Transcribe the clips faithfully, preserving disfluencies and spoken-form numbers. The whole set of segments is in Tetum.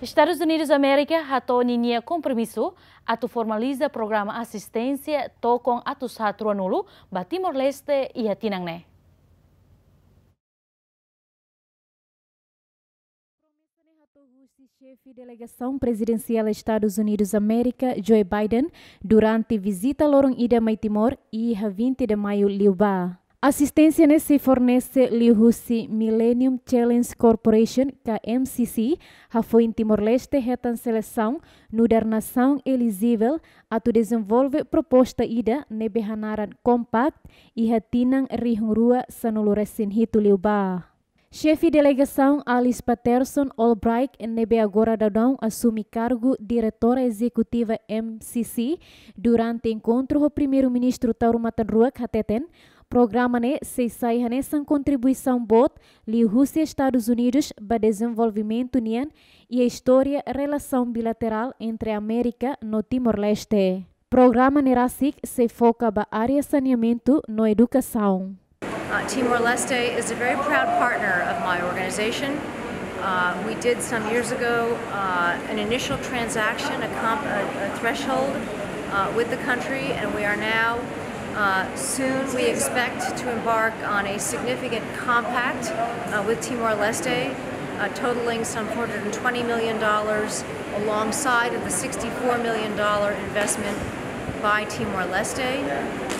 Estadus Unidus Amérika hato'o ninia kompromisu atu formaliza programa asisténsia tokon atus haat ruanulu ba Timor-Leste iha tinan ne'e. Promesa ne'e hato'o husi xefe delegasaun prezidensiál Estadus Unidus Amérika, Joe Biden, durante vizita loron ida mai Timor, iha vinte de Maiu liubá. Asisténsia ne'e sei fornese liuhusi Millennium Challenge Corporation, ka M C C, hafoin Timor-Leste hetan selesaun nu'udar nasaun elijivel atu dezenvolve proposta ida ne'ebé hanaran Compact iha tinan rihun rua sanulu-resin-hitu liubá. Xefe delegasaun Alice Patterson Albright, ne'ebé agora daudaun asume kargu diretora ezekutiva M C C, durante enkontru ho Primeiru-Ministru Taur Matan Ruak hateten, programa ne'e sei sai hanesan kontribuisaun boot liuhusi Estadus Unidus ba dezenvolvimentu nian iha istória relasaun bilaterál entre Amérika no Timor-Leste. Programa ne'e rasik sei foka ba área saneamentu no edukasaun. Uh, Timor-Leste is a very proud partner of my organization. Uh, we did some years ago, uh, an initial transaction, a comp-, a, a threshold, uh, with the country, and we are now, uh, soon we expect to embark on a significant compact, uh, with Timor-Leste, uh, totaling some four hundred and twenty million dollars alongside of the sixty-four million dollar investment by Timor-Leste.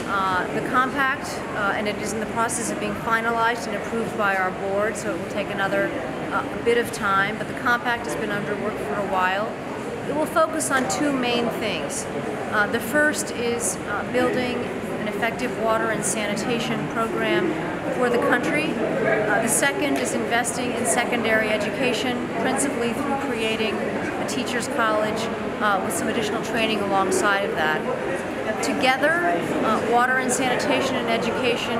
Uh, the compact, uh, and it is in the process of being finalized and approved by our board, so it will take another, uh, bit of time, but the compact has been under work for a while. It will focus on two main things. Uh, the first is, uh, building an effective water and sanitation program for the country. Uh, the second is investing in secondary education, principally through creating a teachers' college, uh, with some additional training alongside of that. Together, uh, water and sanitation and education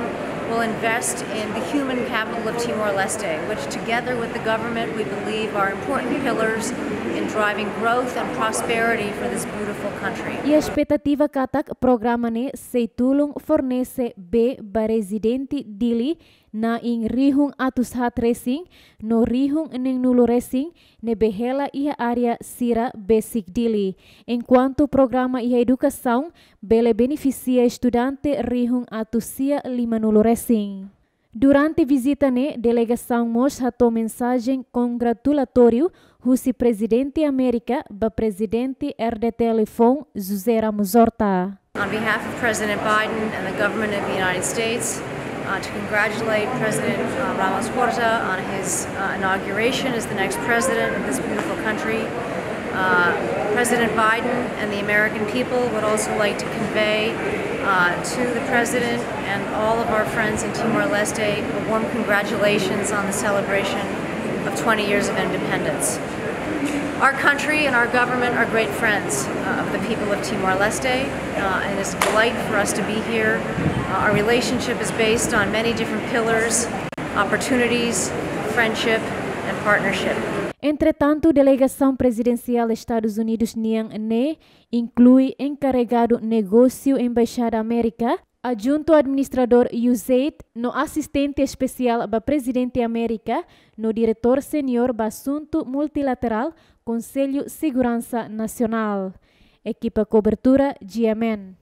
will invest in the human capital of Timor-Leste, which together with the government we believe are important pillars in driving growth and prosperity for this beautiful country. Iha espetativa katak programa ne'e sei tulun fornese bee ba rezidente Dili na'in rihun atus haat resin no rihun neenulu resin ne'ebé hela iha área sira besik Dili, enkuantu programa iha edukasaun bele benefisia estudante rihun atus sia limanulu resin. Durante vizita ne'e, delegasaun mós hato'o mensajen kongratulatóriu husi Prezidente Amérika ba Prezidente R D T L foun, José Ramos Horta. On behalf of President Biden and the government of the United States, uh, to congratulate President, uh, Ramos Horta on his, uh, inauguration as the next president of this beautiful country. Uh, President Biden and the American people would also like to convey, uh, to the president and all of our friends in Timor-Leste a warm congratulations on the celebration of twenty years of independence. Our country and our government are great friends, uh, of the people of Timor-Leste, uh, and it's a delight for us to be here. Uh, our relationship is based on many different pillars, opportunities, friendship, and partnership. Entretantu, delegasaun prezidensiál Estadus Unidus nian ne'e inklui enkaregadu negósiu Embaixada Amérika, adjuntu administradór U S A I D no asistente espesiál ba Prezidente Amérika no diretór seniór ba asuntu multilaterál Konsellu Seguransa Nasionál. Ekipa kobertura G M N.